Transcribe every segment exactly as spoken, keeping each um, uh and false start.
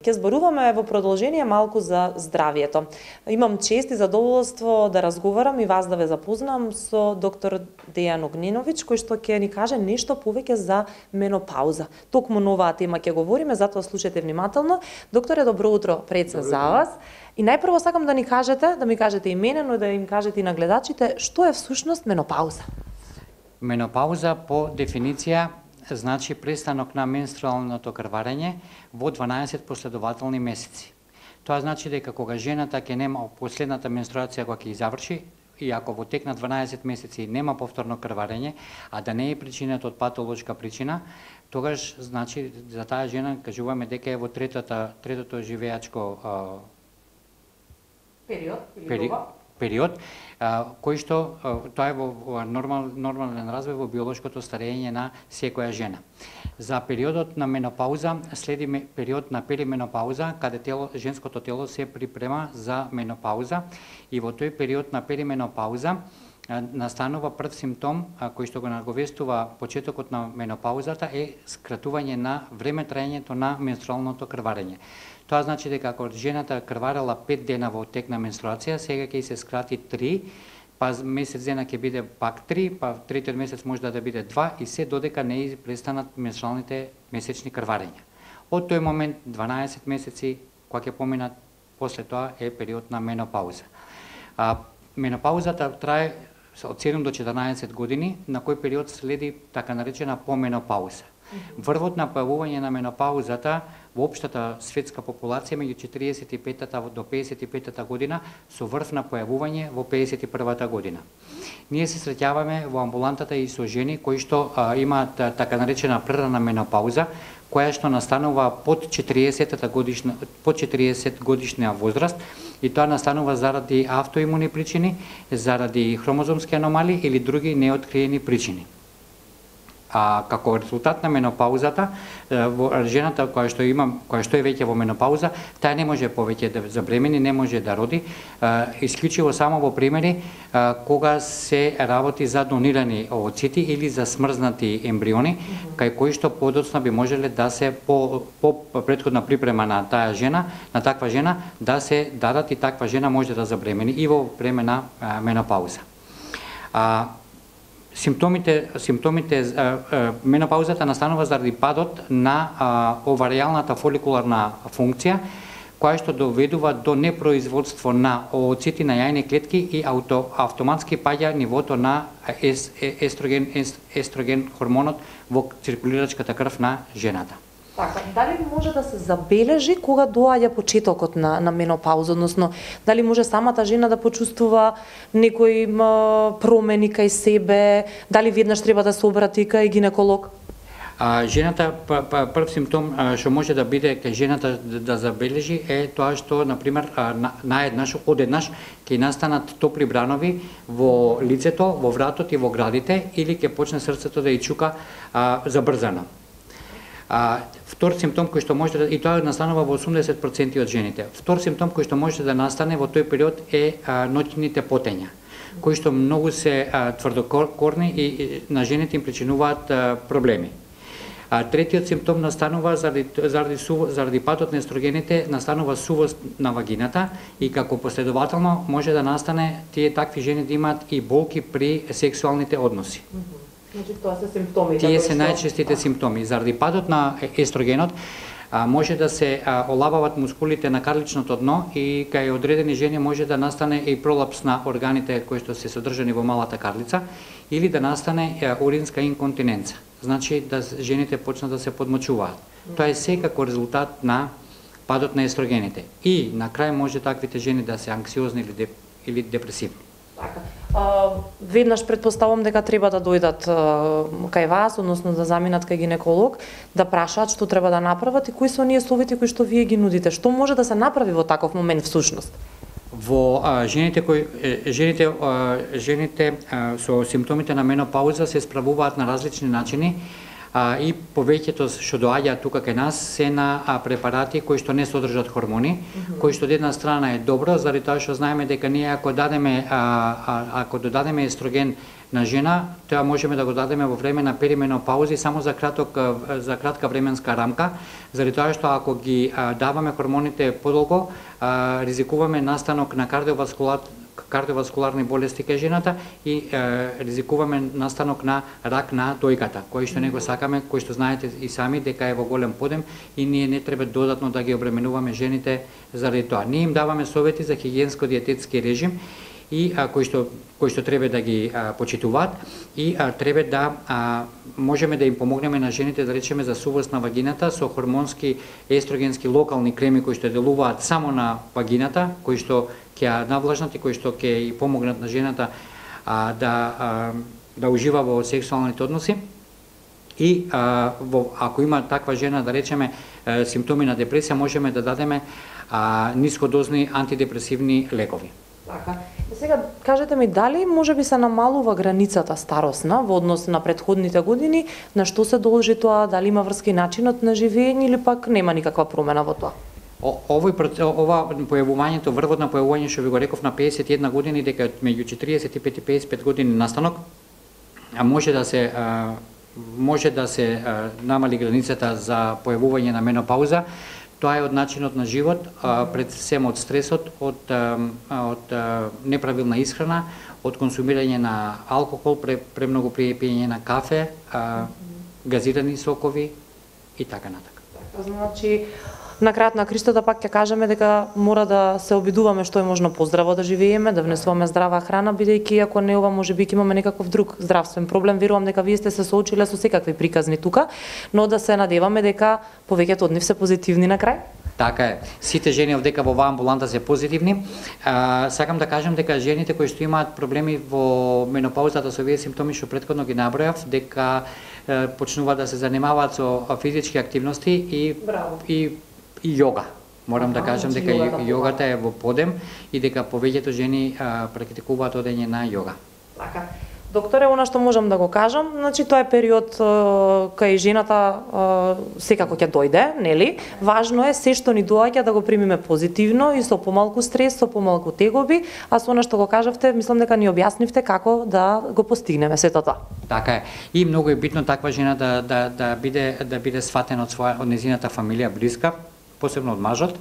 Ќе зборуваме во продолжение малку за здравието. Имам чест и задоволство да разговарам и вас да ве запознам со доктор Дејан Огненовиќ, кој што ќе ни каже нешто повеќе за менопауза. Токму на оваа тема ќе говориме, затоа слушајте внимателно. Докторе, добро утро пред се за вас. И најпрво сакам да ни кажете, да ми кажете и мене, но да им кажете и на гледачите, што е всушност менопауза? Менопауза по дефиниција значи престанок на менструалното крварење во дванаесет последователни месеци. Тоа значи дека кога жената ќе нема последната менструација кога ќе заврши, и ако во тек на дванаесет месеци нема повторно крварење, а да не е причинето од патолошка причина, тогаш значи за таа жена кажуваме дека е во третата третото живеачко а, период или пери, период, а, кој што а, тоа е во, во нормал, нормален развој во биолошкото старење на секоја жена. За периодот на менопауза следи период на перименопауза, каде тело, женското тело се припрема за менопауза, и во тој период на перименопауза настанува прв симптом а, кој што го наговестува почетокот на менопаузата е скратување на време траењето на менструалното крварење. Тоа значи дека ако жената крварела пет дена во тек на менструација, сега ќе се скрати три, па месец дена ќе биде пак три, па третиот месец може да биде два и се додека не престанат менструалните месечни крварења. Од тој момент дванаесет месеци кога ќе поминат, после тоа е период на менопауза. А, менопаузата трае од седум до четрнаесет години, на кој период следи така наречена поменопауза. Врвот на појавување на менопаузата во општата светска популација меѓу четиридесет и петата до педесет и петата година, со врв на појавување во педесет и првата година. Ние се среќаваме во амбулантата и со жени кои што а, имаат а, така наречена прерана менопауза, која што настанува под четириесетата годишна под четириесет годишна возраст, и тоа настанува заради автоимуни причини, заради хромозомски аномалии или други неоткриени причини. А како резултат на менопаузата, жената која што има, која што е веќе во менопауза, таа не може повеќе да забремени, не може да роди, исклучиво само во примери кога се работи за донирани овоцити или за смрзнати ембриони, кај кои што подоцна би можеле да се по, по претходна припрема на таа жена, на таква жена, да се дадат и таква жена може да забремени и во време на менопауза. А, Симптомите, симптомите а, а, менопаузата настанува заради падот на а, оваријалната фоликуларна функција, која што доведува до непроизводство на овоцити на јајни клетки и ауто, автоматски паѓа нивото на ес, естроген, ес, естроген хормонот во циркулирачката крв на жената. Така, дали може да се забележи кога доаѓа почетокот на, на менопауза, односно дали може самата жена да почувствува некои м, промени кај себе, дали веднаш треба да се обрати кај гинеколог? А, жената, прв симптом што може да биде кај жената да, да забележи е тоа што, например, на, наеднаш, одеднаш ќе настанат топли бранови во лицето, во вратот и во градите, или ќе почне срцето да ја чука а, забрзано. А, втор симптом кој што може да, и тоа настанува во осумдесет проценти од жените. Втор симптом кој што може да настане во тој период е а, ноќните потења, кои што многу се а, тврдокорни и, и на жените им причинуваат а, проблеми. А, третиот симптом настанува заради, заради, су, заради падот на естрогените, настанува сувост на вагината, и како последователно може да настане тие такви жени да имаат и болки при сексуалните односи. Значи тоа се симптоми. Тие се најчестите симптоми. Заради падот на естрогенот а, може да се а, олабават мускулите на карличното дно, и кај одредени жени може да настане и пролапс на органите кои што се содржани во малата карлица, или да настане а, уринска инконтиненца. Значи да жените почнат да се подмочуваат. Тоа е секако резултат на падот на естрогените. И на крај може таквите жени да се анксиозни или, деп, или депресивни. Така. А, веднаш предпоставам дека треба да дојдат а, кај вас, односно да заминат кај гинеколог, да прашаат што треба да направат и кои се оние совети кои што вие ги нудите. Што може да се направи во таков момент всушност? Во а, жените кои жените а, жените а, со симптомите на менопауза се справуваат на различни начини. а, и повеќето што доаѓаат тука кај нас се на а, препарати кои што не содржат хормони, mm -hmm. кои што од една страна е добро, заради тоа што знаеме дека ние ако дадеме а, а, ако додадеме естроген на жена, тоа можеме да го дадеме во време на перименопаузи само за краток за кратка временска рамка, заради тоа што ако ги а, даваме хормоните подолго, а, ризикуваме настанок на кардиоваскулар кардиоваскуларни болести кај жената и е, ризикуваме настанок на рак на дојката, кој што не го сакаме, кој што знаете и сами дека е во голем подем и ние не треба додатно да ги обременуваме жените заради тоа. Ние им даваме совети за хигиенско-диететски режим и а, кои што кои што треба да ги а, почитуваат и а, треба да а, можеме да им помогнеме на жените, да речеме, за сувост на вагината со хормонски естрогенски локални креми кои што делуваат само на вагината, кои што ќе ја навлажнат и кои што ќе и помогнат на жената а, да а, да ужива во сексуалните односи. И а, во, ако има таква жена, да речеме, а, симптоми на депресија, можеме да дадеме а, нискодозни антидепресивни лекови. Така. Сега кажете ми, дали може би се намалува границата старосна во однос на претходните години, на што се должи тоа, дали има врска и начинот на живење или пак нема никаква промена во тоа? О, овој ова појавувањето, врвот на појавување што ви го реков на песет и една години, дека меѓу четириесет и пет и песет и пет години настанок, а може да се а, може да се а, намали границата за појавување на менопауза. Тоа е од начинот на живот, а, пред сем од стресот, од а, од а, неправилна исхрана, од консумирање на алкохол, пре, премногу при пиење на кафе, а, газирани сокови и така натака. Значи, на крајот на кристото пак ќе кажеме дека мора да се обидуваме што е можно поздраво да живееме, да внесуваме здрава храна, бидејќи ако не ова можеби ќе имаме некаков друг здравствен проблем. Верувам дека вие сте се соочиле со секакви приказни тука, но да се надеваме дека повеќето од нив се позитивни на крај. Така е. Сите жени овдека во оваа амбуланта се позитивни. А, сакам да кажам дека жените кои што имаат проблеми во менопаузата со овие симптоми што претходно ги набројав, дека е, почнуваат да се занимаваат со физички активности и Браво. и и јога. Морам да кажам дека јогата, јогата е во подем и дека повеќето жени а, практикуваат одење на јога. Така. Докторе, она што можам да го кажам, значи тоа е период кај жената секако ќе дојде, нели? Важно е се што ни доаѓа да го примиме позитивно и со помалку стрес, со помалку тегоби, а со она што го кажавте, мислам дека ни објаснивте како да го постигнеме сето тоа. Така е. И многу е битно таква жена да да да биде да биде сватена од своја од незината фамилија блиска, посебно од мажот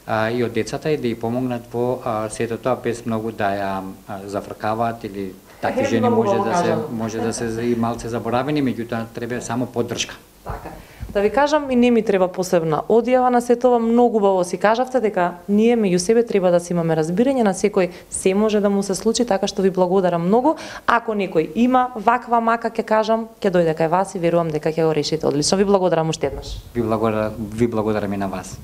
а, и од децата, и да ја помогнат во а, сето тоа без многу да ја а, зафркаваат или такви жени може да се може да се и малце заборавени, меѓутоа треба само поддршка. Така. Да ви кажам, и не ми треба посебна одјава на сето ова, многу убаво си кажавте дека ние меѓу себе треба да си имаме разбирање, на секој се може да му се случи, така што ви благодарам многу. Ако некој има ваква мака, ќе кажам, ќе дојде кај вас и верувам дека ќе го решите одлично. Ви благодарам уште еднаш. Ви благодарам, ви благодарам и на вас.